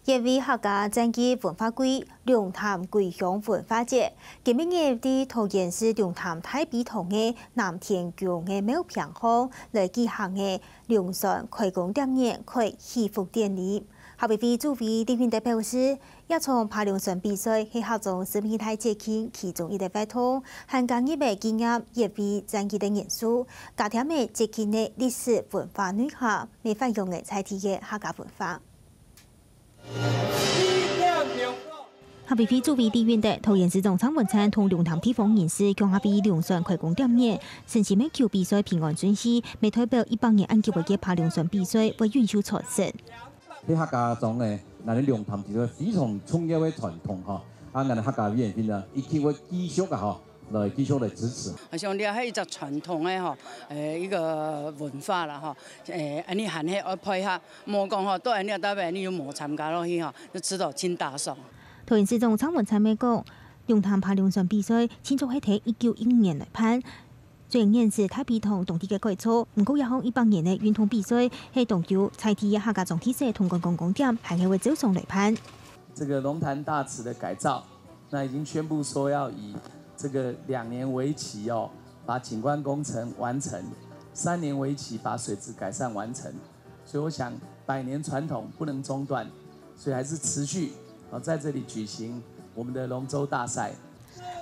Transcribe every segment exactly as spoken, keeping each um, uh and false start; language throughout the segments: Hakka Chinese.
一位客家傳統文化季——龍潭桂香文化節，今晡日在桃園市龍潭大陂塘个南天宮个廟坪項來舉行个龍船開工典禮、開祈福典禮。客委會主委李允德表示，這場扒龍船比賽係客庄十二大節慶其中一個活動，還加入了紀念一位戰役个元素，加添了節慶个歷史文化內涵，也發揚了在地个客家文化。 客委會主委李允德、桃園市長蔡文燦同龍潭地方人士共下為龍船開工點燃，誠心祈求比賽平安順序，也代表一百年恁久个扒龍船比賽會永續傳承。客家庄呢，𠊎等龍潭其實非常重要个傳統哈，啊，𠊎等客家委員會呢，一定會繼續啊哈， 來繼續來支持。我想這係一隻傳統个吼，誒，一個文化啦吼，誒，恁呢還係愛配合，莫講吼，到恁呢到尾恁呢又無參加落去吼，就知道真打爽。桃園市長蔡文燦也講，龍潭扒龍船比賽，盡早係在一九一五年來辦。雖然現時大陂塘當地个改造，毋過這項一百年个運動比賽，係當有在地个客家庄特色同觀光景點，還係會照常來辦。這個龍潭大池的改造， 那已經宣布說要以這個兩年為期哦，把景觀工程完成，三年為期把水質改善完成。所以我想，百年傳統不能中斷，所以還是持續哦，在這裡舉行我們的龍舟大賽。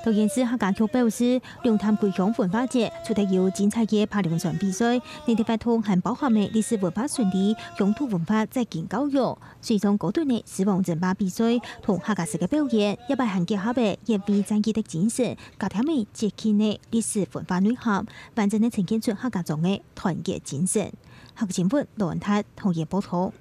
桃園市客家局表示，龍潭桂香文化節除忒有精彩个扒龍船比賽，內底活動還包含了歷史文化巡禮、鄉土文化節慶教育、 水上高等个獅王爭霸比賽同客家式个表演，這擺還結合了一位戰役个精神，加添了節慶个歷史文化內涵，完整个呈現出客家庄个團結精神。客家新聞羅恩泰、唐彥報導。